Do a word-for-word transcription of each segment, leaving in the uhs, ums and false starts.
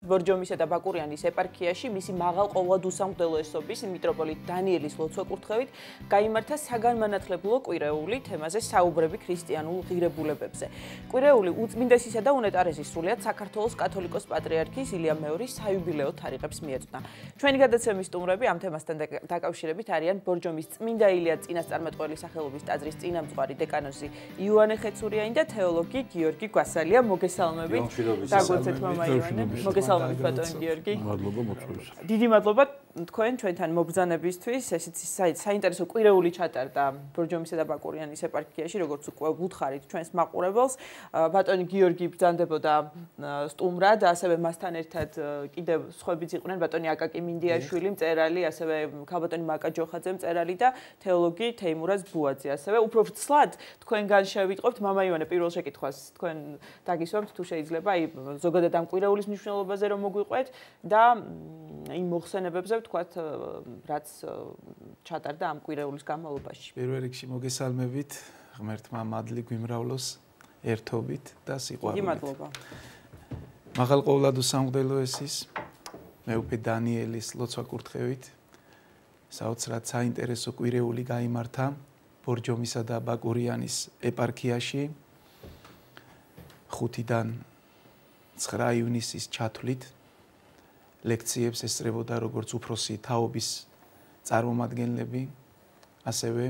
ბორჯომისა და ბაკურიანის ეპარქიაში მისი მაღალ ყოვლადუსამღვდელოესობის მიტროპოლიტ დანიელის ლოცვა-კურთხევით გაიმართა საგანმანათლებლო კვირეული თემაზე საუბრები ქრისტიანულ ღირებულებებზე. კვირეული უწმინდესისა და უნეტარესის სრულიად საქართველოს კათოლიკოს პატრიარქის ილია მეორის საიუბილეო თარიღებს მიეწვდა. ჩვენი გადაცემის სტუმრები ამ თემასთან დაკავშირებით არიან ბორჯომის წმინდა ილია წინასწარმეტყველი სახელობის ტაძრის წინამძღვარი დეკანოზი იოანე ხეცურიანი და თეოლოგი გიორგი გვასალია. მოგესალმებით. დაგვეცეთ მამა იოანე. მოგესალმებით ბატონი გიორგი. მადლობა მოწვევისა. დიდი მადლობა თქვენ ჩვენთან მობრძანებისთვის. ესეც საინტერესო კვირეული ჩატარდა ბორჯომისა და ბაკურიანის ეპარქიაში, როგორც უკვე ვუთხარით ჩვენს მაყურებელს. ბატონი გიორგი ბრძანდებოდა სტუმრად, ასევე მასთან ერთად კიდევ სხვაებიც იყვნენ ბატონი აკაკი მინდიაშვილი, მწერალი, ასევე ქალბატონი მაკა ჯოხაძე, მწერალი და თეოლოგი თეიმურაზ ბუაძე. ასევე უფრო ვცლად თქვენგან შევიტყობთ მამა იოანე პირველ შეკითხვას თქვენ დაგისვამთ თუ შეიძლება აი ზოგადად ამ კვირეულის მნიშვნელობაზე რომ მოგვიყვეთ და იმ მოხსენებებზე ვთქვათ რაც ჩატარდა ამ კვირეულის განმავლობაში. პირველ რიგში მოგესალმებით, ღმერთმა მადლი გვიმრავლოს ერთობით და სიყვარულით. დიდი მადლობა. მაღალ ყოვლადუსამღვდელოესის მეუფე დანიელის ლოცვა-კურთხევით საოცრად საინტერესო კვირეული გაიმართა ბორჯომისა და ბაკურიანის ეპარქიაში ხუთიდან ცხრა ივნისის ჩათვლით ლექციებს ესწრებოდა როგორც უფროსი თაობის წარმომადგენლები, ასევე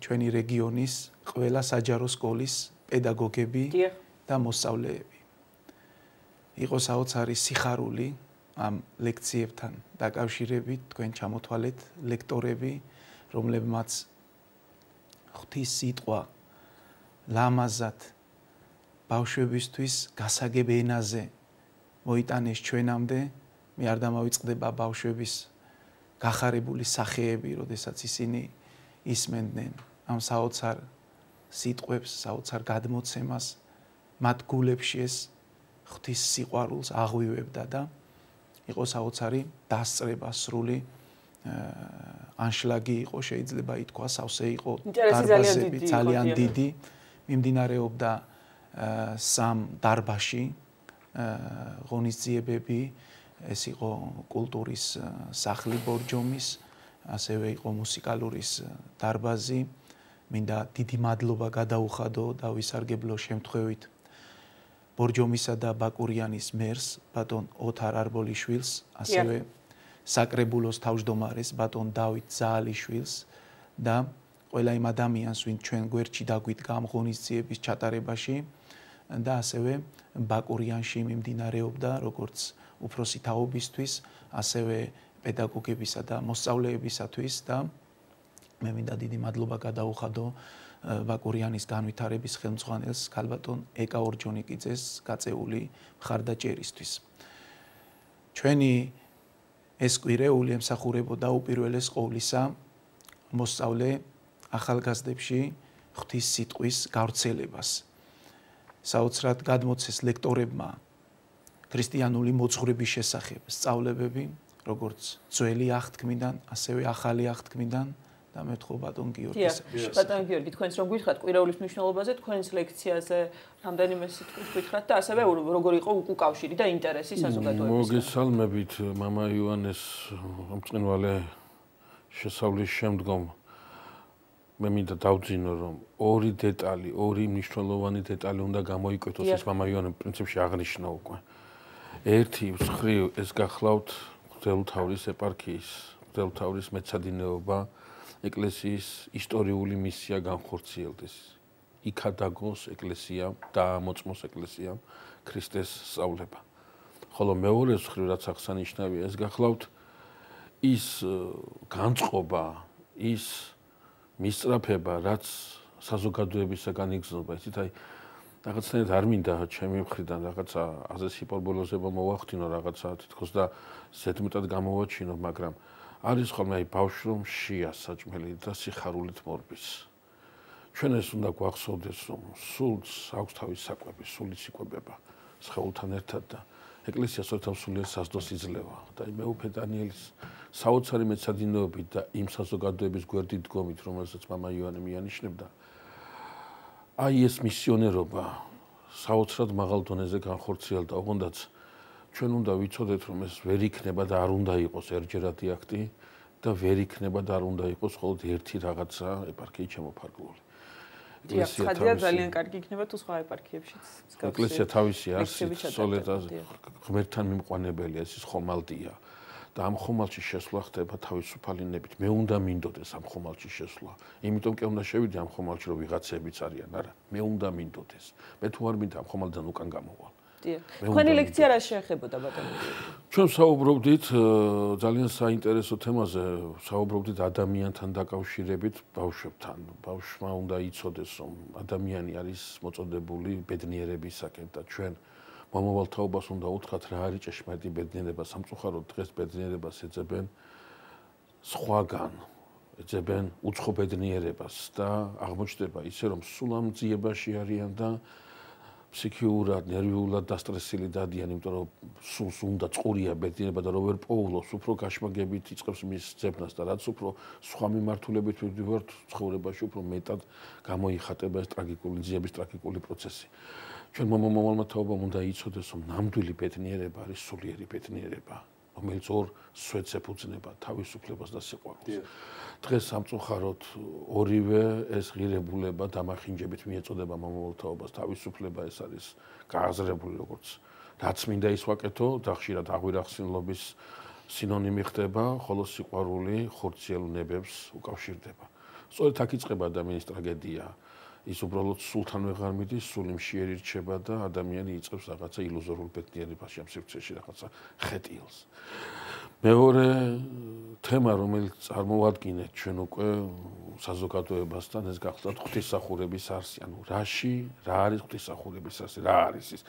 ჩვენი რეგიონის ყველა საჯარო სკოლის პედაგოგები და მოსწავლეები. იყო საოცარი სიხარული ამ ლექციებთან დაკავშირებით, თქვენ ჩამოთვალეთ ლექტორები, რომლებმაც ღვთის სიტყვა ლამაზად ბავშვებისთვის გასაგებ ენაზე მოიტანეს ჩვენამდე. მე არ დამავიწყდება ბავშვების გახარებული სახეები, როდესაც ისინი ისმენდნენ ამ საოცარ სიტყვებს, საოცარ გადმოცემას, მათ გულებში ეს ღვთის სიყვარულს აღვივებდა და იყო საოცარი დასწრება სრული ანშლაგი იყო, შეიძლება ითქვას, ავსე იყო დარბაზები ძალიან დიდი, მიმდინარეობდა სამ დარბაზში ღონისძიებები, ეს იყო კულტურის სახლი ბორჯომის, ასევე იყო მუსიკალურის დარბაზი. მინდა დიდი მადლობა გადაუხადო და ვისარგებლო შემთხვევით ბორჯომისა და ბაკურიანის მერს, ბატონ ოთარ არბოლიშვილს, ასევე საკრებულოს თავმჯდომარეს ბატონ დავით ზაალიშვილს და ყველა იმ ადამიანს, ვინც ჩვენ გვერდში დაგვიდგა ამ ღონისძიების ჩატარებაში და ასევე ბაკურიანში მიმდინარეობდა როგორც უფროსი თაობისთვის, ასევე პედაგოგებისა და მოსწავლეებისათვის და მე მინდა დიდი მადლობა გადაუხადო ბაკურიანის განვითარების ხელმძღვანელს ქალბატონ ეკა ორჯონიკიძეს გაწეული მხარდაჭერისთვის. ჩვენი ეს კვირეული ემსახურებოდა უპირველეს ყოვლისა მოსწავლე ახალგაზრდებში ღვთის სიტყვის გავრცელებას. საოცრად გადმოცეს ლექტორებმა ქრისტიანული მოძღვრების შესახებ სწავლებები, როგორც ძველი აღთქმიდან, ასევე ახალი აღთქმიდან და მე ვთხოვ ბატონ გიორგის. ბატონ გიორგი, თქვენს რომ გითხრათ კვირეულის მნიშვნელობაზე, თქვენს ლექციაზე რამდენიმე სიტყვით გითხრათ და ასევე როგორ იყო უკავშირი და ინტერესი საზოგადოებისგან. მოგესალმებით მამა იოანეს მწყინვალე შესავლის შემდგომ მე მინდა დავძინო რომ ორი დეტალი, ორი მნიშვნელოვანი დეტალი უნდა გამოიკვეთოს ეს მამა იოანე პრინციპში აღნიშნა უკვე. ერთი მხრივ ეს გახლავთ მღვდელმთავრის ეპარქიის, მღვდელმთავრის მეცადინეობა ეკლესიის ისტორიული მისია განხორციელდეს. იქადაგოს ეკლესიამ და ამოწმოს ეკლესიამ ქრისტეს სწავლება. ხოლო მეორე მხრივ რაც აღსანიშნავია, ეს გახლავთ ის განწყობა, ის მისწრაფება, რაც საზოგადოებისაგან იგრძნობა. იცით, აი რაღაცნაირად არ მინდა ჩემი მხრიდან რაღაცა აზრის ჰიპერბოლიზება მოვახდინო რაღაცა თითქოს და ზედმეტად გამოვაჩინო, მაგრამ არის ხოლმე აი ბავშვი რომ შია საჭმელი და სიხარულით მორბის. ჩვენ ეს უნდა გვახსოვდეს, რომ სულს აქვს თავის საკვები, სულიც იკვებება სხეულთან ერთად და ეკლესია სოთა სულიერ საზდოს იძლევა და მეუფე დანიელის საოცარი მეცადინეობით და იმ საზოგადოების გვერდით დგომით, რომელსაც მამა იოანე მიანიშნებდა, აი ეს მისიონერობა საოცრად მაღალ დონეზე განხორციელდა, ოღონდაც ჩვენ უნდა ვიცოდეთ, რომ ეს ვერ იქნება და არ უნდა იყოს ერთჯერადი აქტი და ვერ იქნება და არ უნდა იყოს მხოლოდ ერთი რაღაცა ეპარქიით შემოფარგლული. ეკლესია ძალიან კარგი იქნება თუ სხვა ეპარქიებშიც. ეკლესია თავისი არსით სოლედაზე ღმერთთან მიმყვანებელია, ეს ხომალდია. და ამ ხომალდში შესვლა ხდება თავისუფალინებით. მე უნდა მინდოდეს ამ ხომალდში შესვლა. იმიტომ კი უნდა შევიდე ამ ხომალდში, რომ ვიღაცებიც არიან, არა. მე უნდა მინდოდეს. მე თუ არ მინდა ამ ხომალდიდან უკან გამოვალ. დიახ. თქვენი ლექცია რა შეეხებოდა ბატონო? ჩვენ საუბრობდით ძალიან საინტერესო თემაზე, საუბრობდით ადამიანთან დაკავშირებით ბავშვებთან. ბავშვმა უნდა იცოდეს, რომ ადამიანი არის მოწოდებული ბედნიერებისაკენ და ჩვენ მომავალ თაობას უნდა უთხრათ რა არის ჭეშმარიტი ბედნიერება. სამწუხაროდ დღეს ბედნიერებას ეძებენ სხვაგან, ეძებენ უცხო ბედნიერებას და აღმოჩნდება ისე, რომ სულ ამ ძიებაში არიან და ფსიქიურად, ნერვიულად დასტრესილი დადიან, იმიტომ რომ სულს უნდა წყურია ბედნიერება და რო ვერ პოულობს, უფრო გაშმაგებით იწყებს მის ძებნას და რაც უფრო სხვა მიმართულებით ვიდივართ ცხოვრებაში, უფრო მეტად გამოიხატება ეს ტრაგიკული ძიების ტრაგიკული პროცესი. ჩვენ მომავალმა თაობამ უნდა იცოდეს, რომ ნამდვილი ბედნიერება არის სულიერი ბედნიერება, რომელიც ორ სვეტს ეფუძნება, თავისუფლებას და სიყვარულს. დღეს სამწუხაროდ ორივე ეს ღირებულება დამახინჯებით მიეწოდება მომავალ თაობას, თავისუფლება ეს არის გააზრებული როგორც რაც მინდა ის ვაკეთო და ხშირად აღვირახსნილობის სინონიმი ხდება, ხოლო სიყვარული ხორციელ ნებებს უკავშირდება. სწორედ აქ იწყება ადამიანის ტრაგედია. ის უბრალოდ სულთან ვეღარ მიდის, სული მშიერი რჩება და ადამიანი იწყებს რაღაცა ილუზორულ ბედნიერებაში, ამ სივრცეში რაღაცა ხეტიალს. მეორე თემა, რომელიც წარმოვადგინეთ ჩვენ უკვე საზოგადოებასთან, ეს გახლავთ ღვთისმსახურების არსი. ანუ რაში, რა არის ღვთისმსახურების არსი, რა არის ის?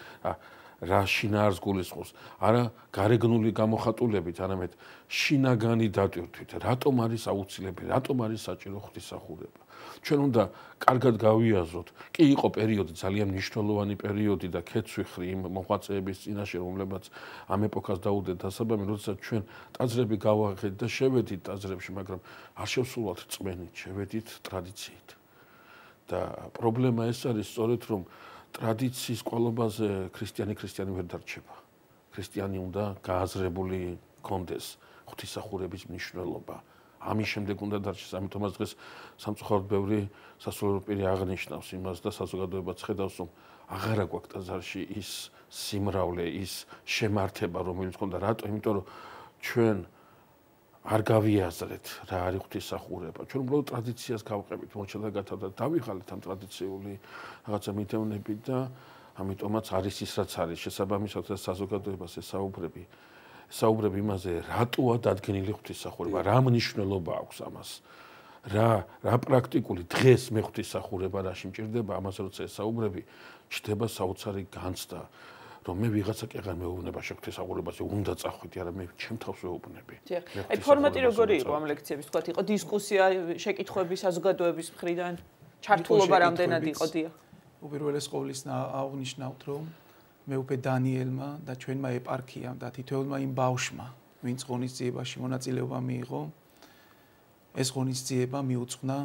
რა შინაარს გულისხმობს? არა გარეგნული გამოხატულებით, არამედ შინაგანი დატვირთვით. რატომ არის აუცილებელი, რატომ არის საჭირო ღვთისმსახურება? ჩვენ უნდა კარგად გავიაზროთ. კი იყო პერიოდი, ძალიან მნიშვნელოვანი პერიოდი და ქეცვიხრი იმ მოღვაწეების წინაშე, რომლებაც ამ ეპოქას დაუდეთ დასაბამი, როდესაც ჩვენ ტაძრები გავაღეთ და შევედით ტაძრებში, მაგრამ არ შევსულვათ წმენით, შევედით ტრადიციით. და პრობლემა ეს არის სწორედ, რომ ტრადიციის ყოლობაზე ქრისტიანი ქრისტიანი ვერ დარჩება. ქრისტიანი უნდა გააზრებული კონდეს ღვთისმსახურების მნიშვნელობა. ამის შემდეგ უნდა დარჩეს, ამიტომაც დღეს სამწუხაროდ ბევრი სასულიერო პირი აღნიშნავს იმას და საზოგადოებაც ხედავს, რომ აღარა გვაქვს ტაძარში ის სიმრავლე, ის შემართება, რომელიც ჰქონდა. რატო? იმიტომ რომ ჩვენ არ გავიაზრეთ რა არის ღვთისმსახურება. ჩვენ უბრალოდ ტრადიციას გავყებით, მოჩადა გათავდა და დავიღალეთ ამ ტრადიციული რაღაცა მითევნები და ამიტომაც არის ის რაც არის. შესაბამისად საზოგადოებას ესაუბრები საუბრები იმაზე, რატოა დადგენილი ღვთისმსახურება, რა მნიშვნელობა აქვს ამას. რა რა პრაქტიკული დღეს მე ღვთისმსახურება რაში მჭირდება, ამაზე როცა ესაუბრები, ჩდება საოცარი განცდა, რომ მე ვიღაცა კი აღარ მეუბნება ღვთისმსახურებაზე, უნდა წახვიდე, არა მე ჩემ თავს ვეუბნები. აი ფორმატი როგორი იყო ამ ლექციების, თქვათ, იყო დისკუსია, შეკითხვები საზოგადოების მხრიდან, ჩართულობა რამდენად იყო, დიახ. უპირველეს ყოვლის აღნიშნავთ, რომ მეუფე დანიელმა და ჩვენმა ეპარქიამ და თითოეულმა იმ ბავშვმა, ვინც ღონისძიებაში მონაწილეობა მიიღო, ეს ღონისძიება მიუძღვნა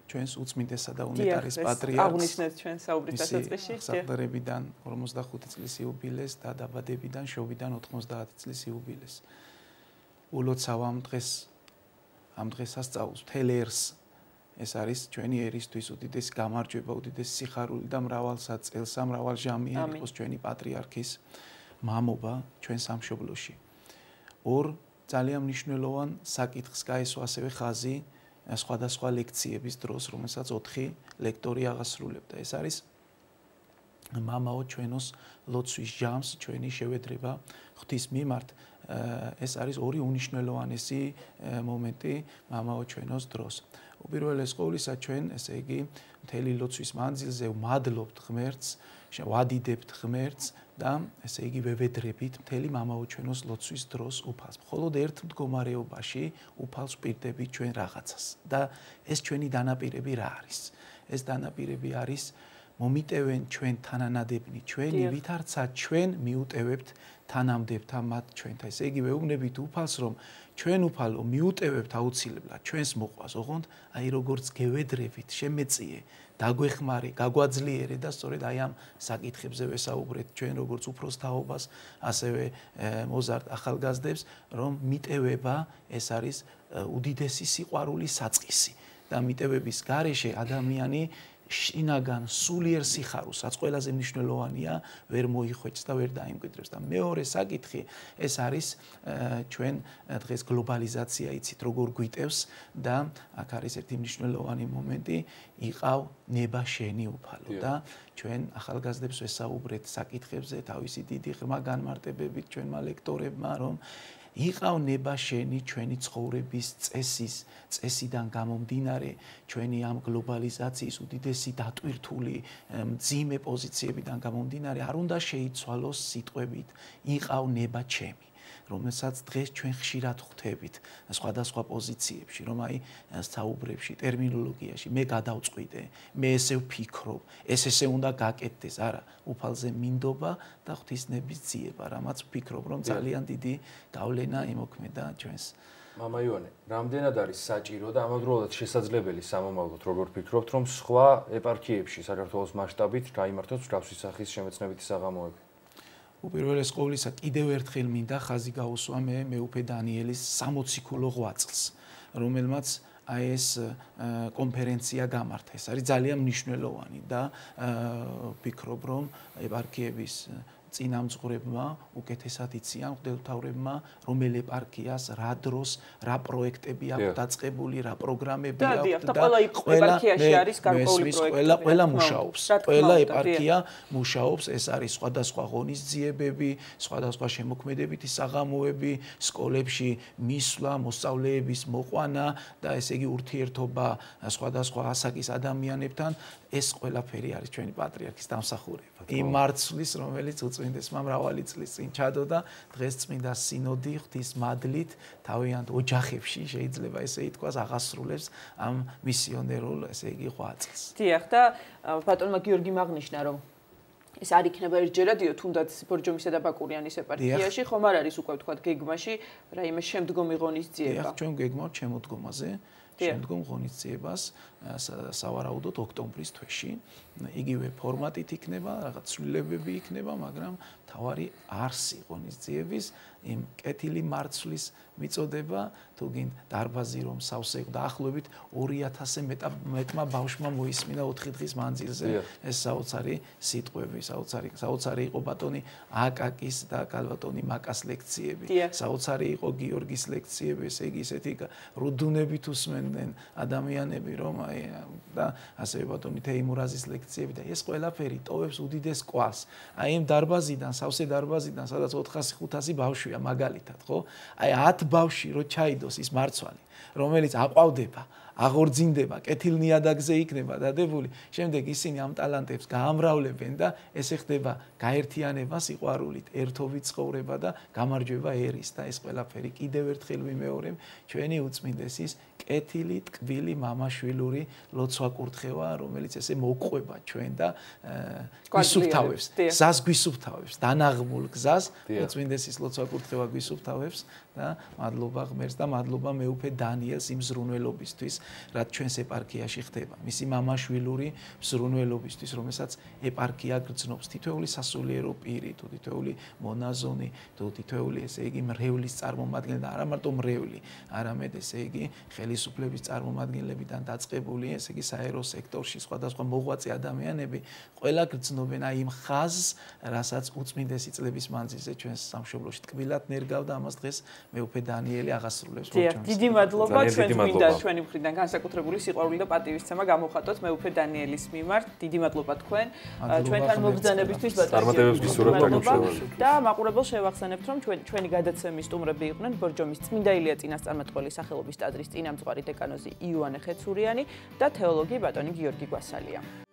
ჩვენს უწმინდესა და უნეტარის პატრიარქს. აღნიშნეთ ჩვენ საუბრის დასაწყისში. სახდარებიდან ორმოცდახუთი წლის იუბილეს და დაბადებიდან შობიდან ოთხმოცდაათი წლის იუბილეს. ულოცავ ამ დღეს ამ დღესასწაულს მთელ ერს ეს არის ჩვენი ერისთვის უდიდესი გამარჯვება, უდიდესი სიხარული და მრავალსაწელსა, მრავალჟამიანი იყოს ჩვენი პატრიარქის მამობა ჩვენ სამშობლოში. ორ ძალიან მნიშვნელოვან საკითხს გაესვა ასევე ხაზი სხვადასხვა ლექციების დროს, რომელსაც ოთხი ლექტორი აღასრულებდა. ეს არის მამაო ჩვენოს ლოცვის ჟამს, ჩვენი შევედრება ღვთის მიმართ. ეს არის ორი უნიშნელოვანესი მომენტი მამაო ჩვენოს დროს. უპირველეს ყოვლისა ჩვენ, ესე იგი, მთელი ლოცვის მანძილზე ვმადლობთ ღმერთს, ვადიდებთ ღმერთს და ესე იგი ვევედრებით მთელი მამაო ჩვენოს ლოცვის დროს უფალს. მხოლოდ ერთ მდგომარეობაში უფალს ვპირდებით ჩვენ რაღაცას და ეს ჩვენი დანაპირები რა არის? ეს დანაპირები არის მომიტევენ ჩვენ თანანადებნი ჩვენი, ვითარცა ჩვენ მიუტევებთ თანამდებთა მათ ჩვენთან. ესე იგი ვეუბნებით უფალს, რომ ჩვენ უფალო მიუტევებთ აუცილებლად ჩვენს მოყვას, ოღონდ აი როგორც გევედრებით, შემეწიე, დაგვეხმარე, გაგვაძლიერე და სწორედ აი ამ საკითხებზე ვესაუბრეთ ჩვენ როგორც უფროს თაობას, ასევე მოზარდ ახალგაზრდებს, რომ მიტევება ეს არის უდიდესი სიყვარულის საწყისი და მიტევების გარეშე ადამიანი შინაგან სულიერ სიხარულსაც ყველაზე მნიშვნელოვანია ვერ მოიხვეჭს და ვერ დაიმკვიდრებს და მეორე საკითხი ეს არის ჩვენ დღეს გლობალიზაცია იცით როგორ გვიტევს და აქ არის ერთი მნიშვნელოვანი მომენტი იყავ ნება შენი უფალო და ჩვენ ახალგაზრდებს ვესაუბრეთ საკითხებზე თავისი დიდი ღრმა განმარტებებით ჩვენმა ლექტორებმა რომ იყავ ნება შენი ჩვენი ცხოვრების წესის წესიდან გამომდინარე ჩვენი ამ გლობალიზაციის უდიდესი დატვირთული მძიმე პოზიციებიდან გამომდინარე არ უნდა შეიცვალოს სიტყვებით იყავ ნება ჩემი რომელსაც დღეს ჩვენ ხშირად ხვდებით სხვადასხვა პოზიციებში რომ აი საუბრებში ტერმინოლოგიაში მე გადავწყვიტე მე ესე ვფიქრობ ეს ესე უნდა გაკეთდეს არა უფალზე მინდობა და ღვთისნების ძიება რამაც ვფიქრობ რომ ძალიან დიდი გავლენა იმოქმედა ჩვენს მამა ივანე რამდენად არის საჭირო და ამავდროულად შესაძლებელი სამომავლოდ როგორ ფიქრობთ რომ სხვა ეპარქიებში საქართველოს მასშტაბით გაიმართოს მსგავსი სახის შემეცნებითი საღამოები უპირველეს ყოვლისა კიდევ ერთხელ მინდა ხაზი გაუსვა მე მეუფე დანიელის სამოციქულო ღვაწლს რომელმაც აი ეს კონფერენცია გამართა ეს არის ძალიან მნიშვნელოვანი და ვფიქრობ რომ ეპარქიების წინამძღვრებმა უკეთესად იციან მღვდელმთავრებმა რომელ ეპარქიას რა დროს რა პროექტები აქვს დაწყებული რა პროგრამები აქვს და ყველა ეპარქიაში არის გარკვეული პროექტები ყველა ყველა მუშაობს ყველა ეპარქია მუშაობს ეს არის სხვადასხვა ღონისძიებები სხვადასხვა შემოქმედებითი საღამოები სკოლებში მისვლა მოსწავლეების მოყვანა და ესე იგი ურთიერთობა სხვადასხვა ასაკის ადამიანებთან ეს ყველაფერი არის ჩვენი პატრიარქის დამსახურება იმ მარცვლის რომელიც უწმინდესმა მრავალი წლის წინ ჩადო და დღეს წმინდა სინოდი ღვთის მადლით თავიანთ ოჯახებში შეიძლება ესე ითქვას აღასრულებს ამ მისიონერულ ესე იგი ღვაწლს. დიახ და ბატონმა გიორგი მაგნიშნა რომ ეს არ იქნება ერთჯერადიო თუნდაც ბორჯომისა და ბაკურიანის ეპარქიაში ხომ არ არის უკვე თქვა გეგმაში რაიმე შემდგომი ღონისძიება. დიახ ჩვენ გეგმავთ შემოდგომაზე შემდგომ ღონისძიებას სავარაუდოდ ოქტომბრის თვეში იგივე ფორმატით იქნება რაღაც ცვლილებები იქნება მაგრამ თავარი არსი ღონისძიების იმ კეთილი მარცვლის მიწოდება თუ გინდ დარბაზი რომ სავსე დაახლოებით ორი ათასზე მეტმა ბავშვმა მოისმინა ოთხი დღის მანძილზე ეს საოცარი სიტყვები საოცარი საოცარი იყო ბატონი აკაკის და კალბატონი მაკას ლექციები საოცარი იყო გიორგის ლექციები ესე იგი ესეთი რუდუნებით უსმენდნენ ადამიანები რომ აი და ასევე ბატონი თეიმურაზის ლექციები და ეს ყველაფერი ტოვებს უდიდეს კვას აი იმ დარბაზიდან სავსე დარბაზიდან სადაც ოთხასი ხუთასი ბავშვია მაგალითად ხო აი ათ ბავშვი რო ჩაიდოს ის მარცვალი რომელიც აყვავდება აღორძინდება კეთილნიადაგზე იქნება დადებული შემდეგ ისინი ამ ტალანტებს გაამრავლებენ და ესე ხდება გაერთიანება სიყვარულით ერთობით ცხოვრება და გამარჯვება ერის და ეს ყველაფერი კიდევ ერთხელ ვიმეორებ ჩვენი უწმინდესის კეთილი ტკბილი მამაშვილური ლოცვა კურთხევა რომელიც ესე მოყვება ჩვენ და გვისუფთავებს გზას გვისუფთავებს დანაღმულ გზას უწმინდესის ლოცვა კურთხევა გვისუფთავებს და მადლობა ღმერთს და მადლობა მეუფე დანიელს იმ ზრუნველობისთვის რაც ჩვენს ეპარქიაში ხდება მისი მამაშვილური ზრუნველობისთვის რომელსაც ეპარქია გრძნობს თითოეული სასულიერო პირი თუ თითოეული მონაზონი თუ თითოეული ესე იგი მრევლის წარმომადგენელი და არა მარტო მრევლი არამედ ესე იგი ხელისუფლების წარმომადგენლებიდან დაწყებული ესე იგი საერო სექტორში სხვადასხვა მოღვაწე ადამიანები ყველა გრძნობენ აი იმ ხაზს რასაც უწმინდესი წლების მანძილზე ჩვენს სამშობლოში ტკბილად ნერგავდა ამას დღეს მეუფე დანიელი აღასრულებს ბორჯომის. დიდი მადლობა ჩვენ მინდა ჩვენი მხრიდან განსაკუთრებული სიყვარული და პატივისცემა გამოვხატოთ მეუფე დანიელის მიმართ. დიდი მადლობა თქვენ ჩვენთან მობრძანებისთვის ბატონო და მაყურებელს შევახსენებთ რომ ჩვენი გადაცემის სტუმრები იყვნენ ბორჯომის წმინდა ილია წინასწარმეტყველის სახელობის ტაძრის წინამძღვარი დეკანოზი იოანე ხეცურიანი და თეოლოგი ბატონი გიორგი გვასალია.